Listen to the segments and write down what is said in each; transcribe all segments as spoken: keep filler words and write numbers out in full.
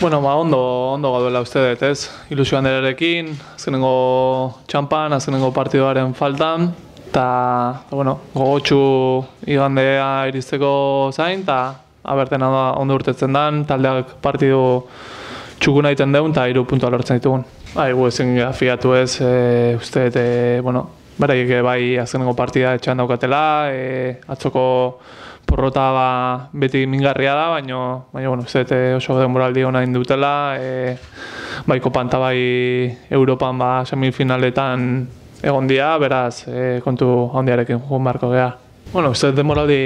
Bueno, ba, ondo, ondo gaudela uste dut, ez? Ilusio handerarekin, azkenengo txampan, azkenengo partidoaren faltan, eta, bueno, gogotxu igandea iristeko zain, eta aberten ondo urtetzen dan, taldeak partidu txukuna egiten deun, eta hiru puntua lortzen ditugun. Bai, gu ezin fiatu ez, e, uste dut, e, bueno, beraiek bai azkenengo partida etxean daukatela, e, atzoko porrota ba, beti mingarria da, baina, baina bueno, uste dut oso denboraldi hona indutela, e, bai kopan eta bai Europan ba, semifinaletan egon dira, beraz, e, kontu handiarekin jugun beharko geha. Bueno, uste dut denboraldi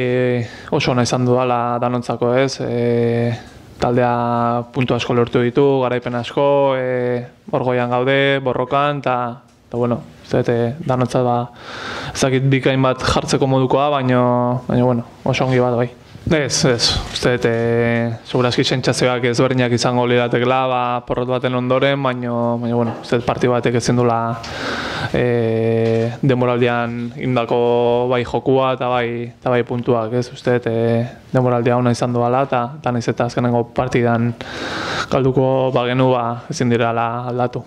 oso ona izan dudala danontzako ez, e, taldea puntu asko lortu ditu, garaipen asko, e, orgoian gaude, borrokan, eta, eta bueno, uste dut danontzat ba, ezakit bikain bat jartzeko modukoa, baina, baina bueno, oso ongi bat bai. Ez, ez, uste dut, e, segurazki sentsazioak ezberdinak izango liratekela, ba, porrot baten ondoren, baina, baina bueno, uste dut parti batek ezin dula e, denboraldian indako bai jokua eta bai, eta bai puntuak, ez, uste dut, e, denboraldia ona izan duela, eta, eta nahiz eta azkenengo partidan galduko bagenu ba, ezin direla aldatu.